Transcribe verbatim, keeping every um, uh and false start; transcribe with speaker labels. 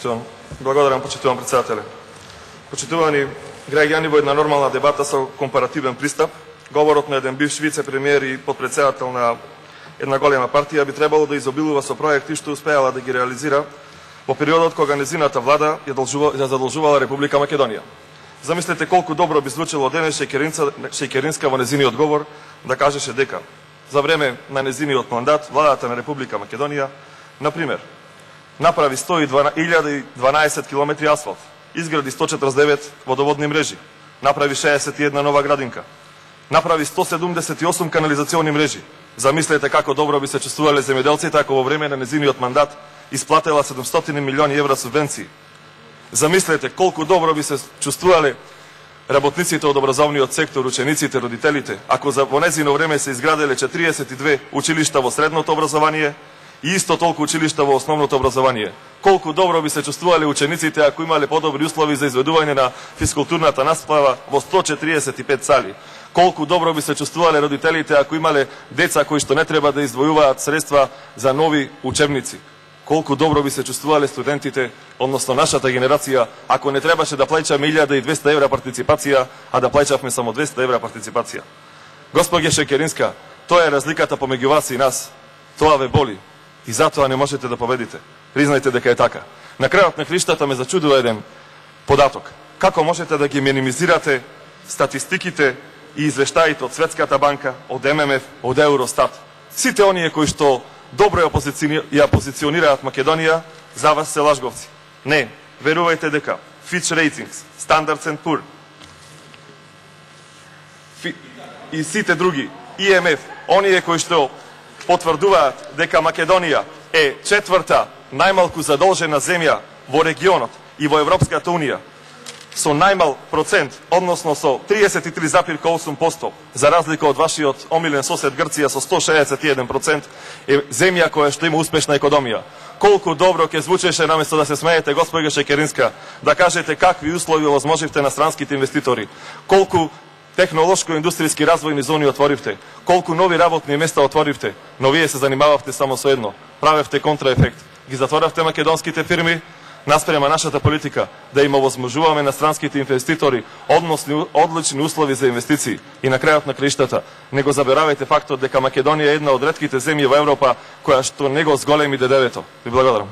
Speaker 1: Почитувам. Благодарам, почитувам председателе. Почитувани граѓани, во една нормална дебата со компаративен пристап, говорот на еден бивш вице-премиер и подпредседател на една голема партија би требало да изобилува со проекти што успеала да ги реализира во периодот кога незината влада ја, должува, ја задолжувала Република Македонија. Замислете колку добро би звучело денес Шеќеринска во незиниот говор да кажеше дека за време на незиниот мандат владата на Република Македонија, например, направи сто илјада и дванаесет километри асфалт, изгради сто четрдесет и девет водоводни мрежи, направи шеесет и една нова градинка, направи сто седумдесет и осум канализациони мрежи. Замислете како добро би се чувствувале земјоделците ако во време на незиниот мандат исплатела седумстотини милиони евра субвенции. Замислете колку добро би се чувствувале работниците од образовниот сектор, учениците, родителите, ако за во незино време се изграделе четириесет и две училишта во средното образование и исто толку училишта во основното образование. Колку добро би се чувствувале учениците ако имале подобри услови за изведување на физкултурната настава во сто четириесет и пет сали. Колку добро би се чувствувале родителите ако имале деца кои што не треба да издвојуваат средства за нови учебници. Колку добро би се чувствувале студентите, односно нашата генерација, ако не требаше да плаќаме илјада и двесте евра партиципација, а да плаќавме само двесте евра партиципација. Господја Шеќеринска, тоа е разликата помеѓу вас и нас. Тоа ве боли и затоа не можете да победите. Признајте дека е така. На крајот на криштата ме зачудува еден податок. Како можете да ги минимизирате статистиките и извештаите од Светската банка, од Ем Ем Еф, од Евростат? Сите оние кои што добро ја позиционираат Македонија, за вас се лажговци. Не, верувајте дека Fitch Ratings, Standard енд Poor и сите други, И Ем Еф, оние кои што потврдуваат дека Македонија е четврта најмалку задолжена земја во регионот и во Европската Унија, со најмал процент, односно со триесет и три запир осум проценти, за разлика од вашиот омилен сосед Грција со сто шеесет и еден проценти, е земја која што има успешна економија. Колку добро ќе звучеше наместо да се смеете, господја Шеќеринска, да кажете какви услови овозможивте на странските инвеститори, колку технолошко-индустријски развојни зони отворивте, колку нови работни места отворивте, но вие се занимававте само со едно, правевте контраефект. Ги затворавте македонските фирми, наспрема нашата политика да им овозможуваме на странските инвеститори односни одлични услови за инвестиции. И на крајот на криштата, не го заборавајте фактот дека Македонија е една од ретките земји во Европа која што не го зголеми дедевето. Ви благодарам.